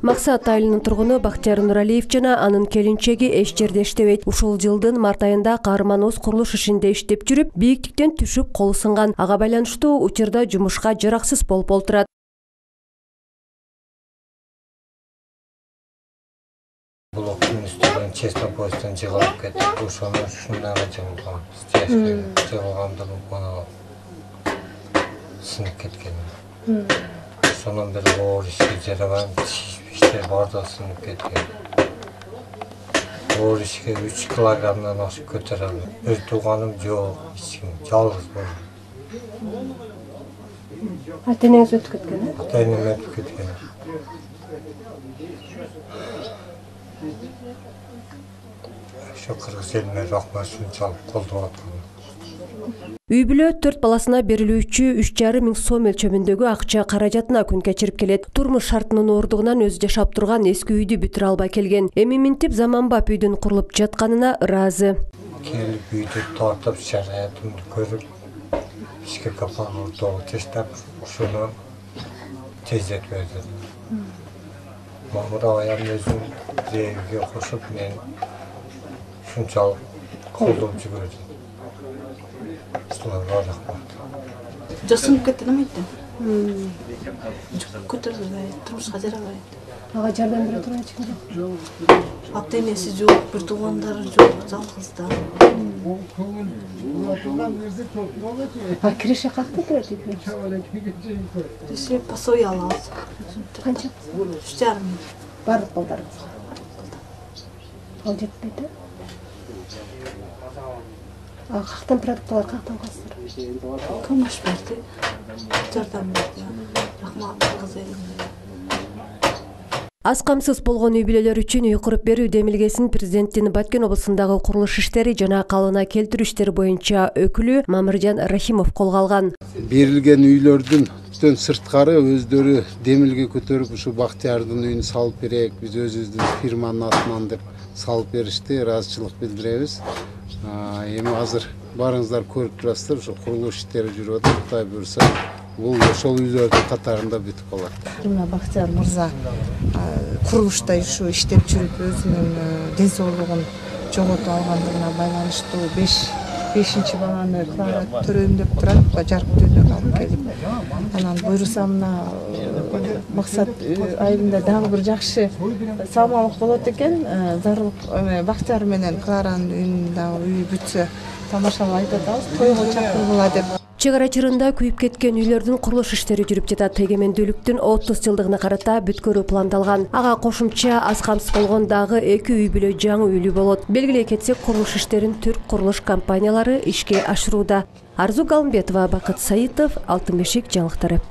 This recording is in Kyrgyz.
Максат айылынын тургуну Бактияр Нуралиев жана анын келинчеги эч жерде иштебейт. Ушул жылдын март айында каарман өз курулуш ишинде иштеп жүрүп, бийиктиктен түшүп колу сынган. Ага байланыштуу учурда жумушка жараксыз болуп олтурат. Блоктун үстүнөн честопостон жыгылып кетип, ошону ушунага жыгылгам. Жыгылгамда бул сынып кеткен. Сонун бери оор ишке жарабам, иштер бардыгы сынып кеткен. Оор ишке 3 килограммдан ашып көтөрө албайм. Өз тууганым жок, эч ким, жалгыз болдум. Ата-энеңиз өтүп кеткен? Ата-энем өтүп кеткен. Ошо кыргыз элине рахмат ушунчалык колдоп аткан. Үй бүлө 4 баласына берилүүчү 3,5 миң сом өлчөмүндөгү акча каражатына күн кечирип келет. Турмуш шартынын ооругунан өзү жашап турган эски үйдү бүтүрө албай келген. Эми минтип заманбап үйдүн курулуп жатканына ыраазы. Келип үйдү тартып, шараятымды көрүп, ишке капаны уртого таштап, ушуну тездетип берди. Мамыр айым өзүн рейге кошуп, мен ушунчалык колдоп жүрөдүм. Жасынып кетти немейт? Көтөрүлө албай, турмушка жарабай. Ага жардам бере турган эч ким жок. Ата-энеси жок, бир туугандары жок, жалгыз да. Киреше какта берди? Киреше пособие алабыз. Канча? 3,5 миң. Бардык балдарыңыз. Ал жетпейт, э? Кактан продукталар кактан калсыздар? Помощь берди. Жардам берди. Рахмат кыргыз элине. Аз камсыз болгон үй бүлөлөр үчүн үй куруп берүү демилгесин президенттин Баткен облусундагы курулуш иштери жана калыбына келтирүү иштери боюнча өкүлү Мамыржан Рахимов колго алган. Берилген үйлөрдүн сырткары өздөрү демилге көтөрүп, ушу Бактиярдын үйүн салып берейик, биз өзүбүздүн фирманын атынан деп салып беришти, ыраазычылык билдиребиз. Эми азыр барыңыздар көрүп турасыздар, ушу курулуш иштери жүрүп атат. Кудай буйруса, бул ошол үйлөрдүн катарында бүтүп калат. Мына Бактияр мырза курулушта ушу иштеп жүрүп өзүнүн ден соолугун жоготуп алгандыгына байланыштуу 5-5 баланы төрөйм деп турат, жарык дүйнөгө алып келип. Анан буйруса мына Максат айылында дагы бир жакшы салмалык болот экен. Зарыл Бактияр менен Кларанын үйүндө үй бүтсө тамашалап айтып атабыз, тойго чакыргыла деп. Чек ара чырында күйүп кеткен үйлөрдүн курулуш иштери жүрүп жатат. Эгемендүүлүктүн 30 жылдыгына карата бүткөрүү пландалган. Ага кошумча аз камсыз болгон дагы 2 үй бүлө жаңы үйлүү болот. Белгилей кетсек, курулуш иштерин түрк курулуш компаниялары ишке ашырууда. Арзу Галымбетова, Бакыт Саитов, Алтын бешик жаңылыктары.